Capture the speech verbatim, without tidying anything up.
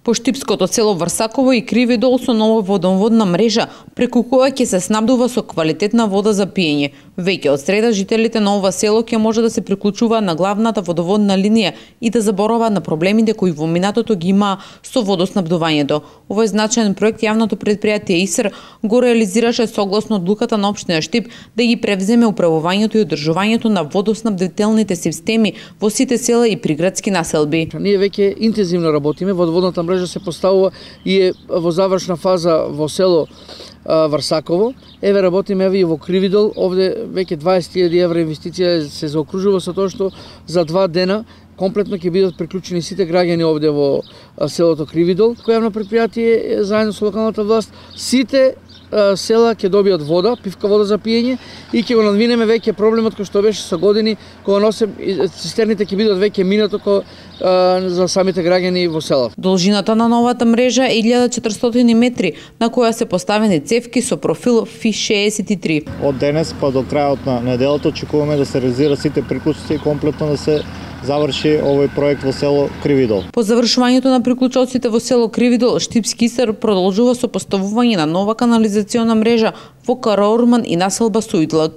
По штипското село Врсаково и Кривидол со нова водоводна мрежа, преку која ќе се снабдува со квалитетна вода за пиење. Веќе од среда жителите на ова село ќе може да се приклучуваат на главната водоводна линија и да забораваат на проблемите кои во минатото ги имаа со водоснабдувањето. Овој значаен проект јавното предпријатие ИСР го реализираше согласно одлуката на општина Штип да ги превземе управувањето и одржувањето на водоснабдителните системи во сите села и приградски населби. Ние веќе интензивно работиме, водоводната мрежа се поставува и е во завршна фаза во село Врсаково. Еве работиме еве и во Кривидол, овде веќе дваесет илјади евра инвестиција се заокружува со тоа што за два дена комплетно ќе бидат приклучени сите граѓани овде во селото Кривидол. Којавно предпријатие заедно со локалната власт сите села ќе добијат вода, пивка вода за пиење и ќе го надминеме веќе проблемот кој што беше со години кога носе цистерните ќе бидат веќе минато ко, а, за самите граѓани во села. Должината на новата мрежа е илјада четиристотини метри, на која се поставени цевки со профил Ф шеесет и три. Од денес па до крајот на неделата очекуваме да се реализира сите приклучоци и комплетно да се заврши овој проект во село Кривидол. По завршувањето на приклучоците во село Кривидол, Штипски ИСР продолжува со поставување на нова канализациона мрежа во Караорман и населба Сујдлак.